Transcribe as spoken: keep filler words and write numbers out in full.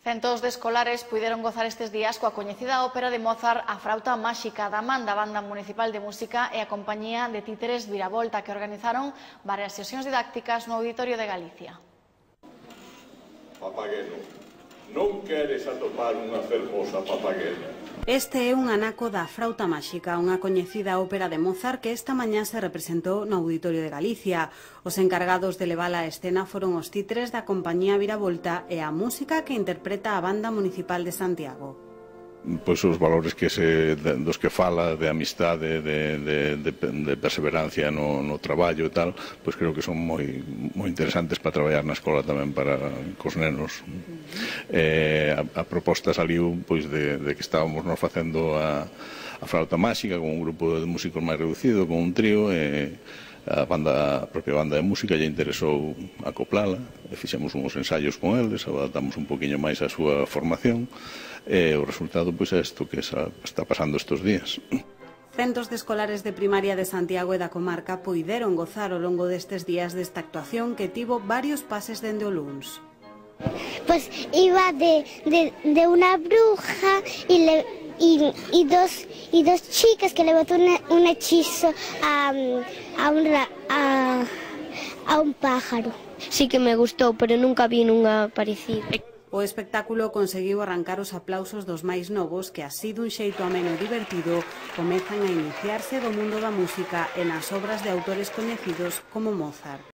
Centos de escolares puideron gozar estes días coa coñecida ópera de Mozart A Frauta Máxica da man da Banda Municipal de Música e a compañía de títeres Viravolta, que organizaron varias sesións didácticas no Auditorio de Galicia. Papagueno, non queres atopar unha fermosa papaguena? Este é un anaco da Frauta Máxica, unha coñecida ópera de Mozart que esta mañá se representou no Auditorio de Galicia. Os encargados de levala á escena foron os títeres da compañía Viravolta e a música que interpreta a Banda Municipal de Santiago. Pois os valores que se, dos que fala, de amistade, de, de, de, de perseverancia no, no traballo e tal, pois creo que son moi, moi interesantes para traballar na escola tamén para cos nenos. Eh, a, a proposta saliu pois de, de que estábamos nos facendo a, a Frauta Máxica con un grupo de músicos máis reducido, con un trío, e a, banda, a propia banda de música lle interesou acoplala, e fixemos uns ensaios con eles, adaptamos un poquinho máis a súa formación, e o resultado pois é isto que está pasando estes días. Centos de escolares de primaria de Santiago e da comarca poideron gozar ao longo destes días desta actuación que tivo varios pases dende o luns. Pues iba de, de, de una bruja y, le, y, y, dos, y dos chicas que le botó un, un hechizo a, a, un, a, a un pájaro. Sí que me gustou, pero nunca vi nunha parecida. O espectáculo conseguiu arrancar os aplausos dos máis novos que, así dun xeito ameno e divertido, comezan a iniciarse do mundo da música e nas obras de autores coñecidos como Mozart.